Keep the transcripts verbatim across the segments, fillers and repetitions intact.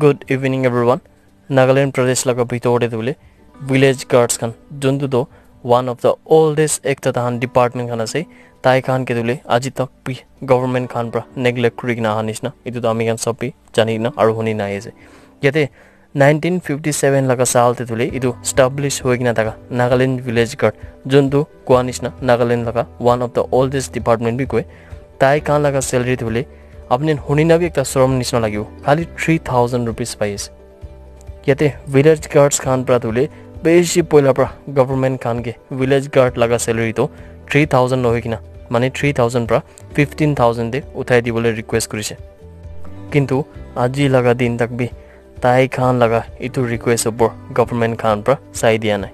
Good evening everyone. Nagaland Pradesh laga bitor te tu hoile village guards khan, juntu tu one of the oldest ekta tahan department khan ase, tai khan ke tu hoile aji tak bi government khan pra neglect kuri kena aha nishina, etu tu ami khan sob bi jani kena aru huni na ahi ase. Yate nineteen fifty seven laga saal te tu hoile etu establish hoi kena thaka Nagaland Village Guard, juntu koa nishina Nagaland laga one of the oldest department bi koi, tai khan laga salary tu hoile apni huni na bi ekta sorom nishina lagibo, khali three thousand rupees pai ase. Yate village guards khan pra tu hoile bishi poila pra government khan ke village guard laga salary tu three thousand nohoi kena, mane three thousand pra fifteen thousand te uthai dibole request kurise. Kintu aji laga din tak bi tai khan laga etu request opor government khan pra sai dia nai.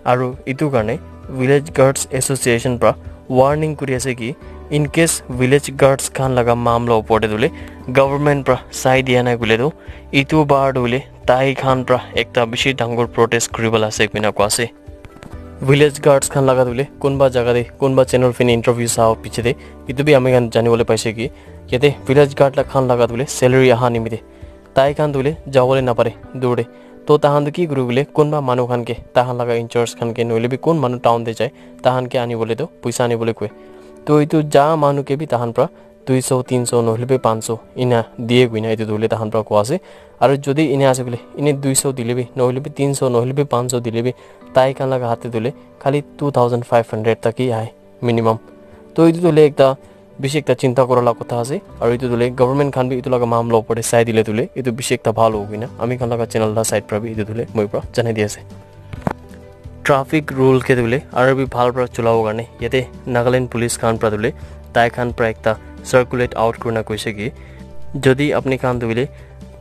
Aru etu karne Village Guards Association pra warning kuri ase ki, in case village guards khan laga mamla opor te tu hoile government pra sai dia nai koile tu, etu bar tu hoile tai khan pra ekta bishi dangor protest kuri bole ase koina koa ase. Village guards khan laga tu hoile kunba jaga te kunba channel fini interview sa piche te etu bi ami khan jani bole paise ki, yate village guard la khan laga tu hoile salary aha nimite tai khan tu hoile jabole napare dur te. To tahan tu ki kuri bole, kunba manu khan ke tahan laga in charge khan ke nohole bi kun manu town te jai, tahan ke ani bole tu poisa ani bole koi. To etu ja manu ke bi tahan pra dui so, tin so nohole bi panch so ina diye koina etu tu hoile tahan pra koa ase. Aru jodi ina ase bole, ine dui so dile bi, nohole bi tin so, nohole bi panch so dile bi, tai khan laga hat te tu hoile khali two thousand five hundred tak hi ahe minimum. To etu tu hoile ekta bishi ekta chinta kura la kotha ase, aru etu tu hoile government khan bi etu laga mamla opor te sai dile tu hoile etu bishi ekta bhal hobo koina ami khan laga channel la side pra bi etu tu hoile moi pra janai di ase. Traffic rule ke tu hoile aru bi bhal pra chulabo karne yate Nagaland police khan pra tu hoile tai khan pra ekta circulate out kurina koise ki, jodi apni khan tu hoile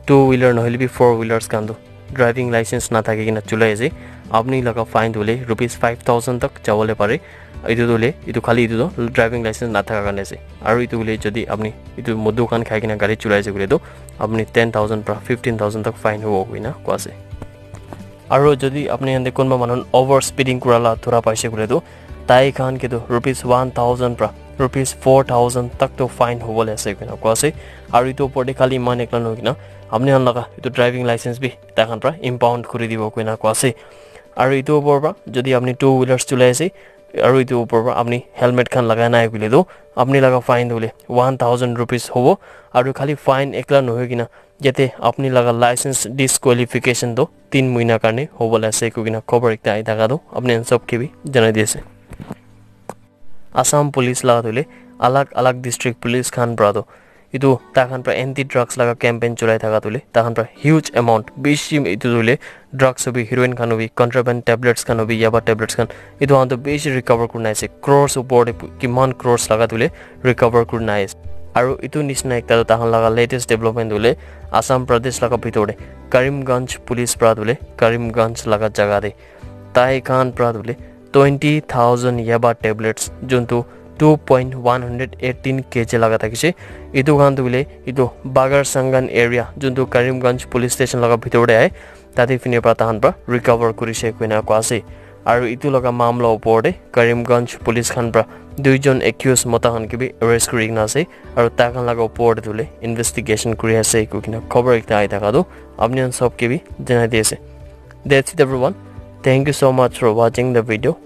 two wheeler nohole bi four wheelers khan tu driving license na thaki kena chulai ase, apni laga fine tu hoile rupees five thousand tak jabole pare. Etu tu hoile, etu khali etu tu driving license na thaka karne ase. Aru etu hoile jodi apni etu modu khan khai kena gari chulai ase koile tu apni ten thousand pra fifteen thousand tak fine hobo koina koa ase. Aru jodi apni khan te kunba manu over speeding kura la thura paise koile tu tai khan ke tu rupees one thousand pra rupees four thousand tak tu fine hobole ase koina koa ase. Aru etu opor te khali iman ekla nohoi kena apni khan laga etu driving license bi tai khan pra impound kuri dibo koina koa ase. Aru etu opor pra jodi apni two wheelers chulai ase aru etu opor pra apni helmet khan lagai nai koile tu apni laga fine tu hoile one thousand rupees hobo. Aru khali fine ekla nohoi kena yate apni laga license disqualification tu tin muina karne hobole ase koi kena khobor ekta ahi thaka tu apni khan sob ke bi janai di ase. Assam police laga tu hoile alag alag district police khan pra tu etu tai khan pra anti drugs laga campaign chulai thaka tu hoile tai khan pra huge amount bishi etu tu hoile drugs hobi, heroin khan hobi, contraband tablets khan hobi, yaba tablets khan, etu khan tu bishi recover kurina ase, crores opor te pu-, kiman crores laga tu hoile recover kurina ase. Aru etu nishina ekta tu tai khan laga latest development tu hoile Assam Pradesh laga bitor te Karimganj police pra tu hoile Karimganj laga jaga te tai khan pra tu hoile twenty thousand yaba tablets, juntu two point one hundred eighteen K G laga thakise. Etu khan tu hoile etu Bagar Sangan area, juntu Karimganj police station laga bitor te ahe, tate fini pra tahan pra recover kurise koina koa ase. Aru etu laga mamla opor te Karimganj police khan pra duijon accused mota khan ke bi arrest kuri kena ase. Aru tai khan laga opor te tu hoile investigation kuri ase koi kena khobor ekta ahi thaka tu apni khan sob ke bi janai di ase. That's it everyone. Thank you so much for watching the video.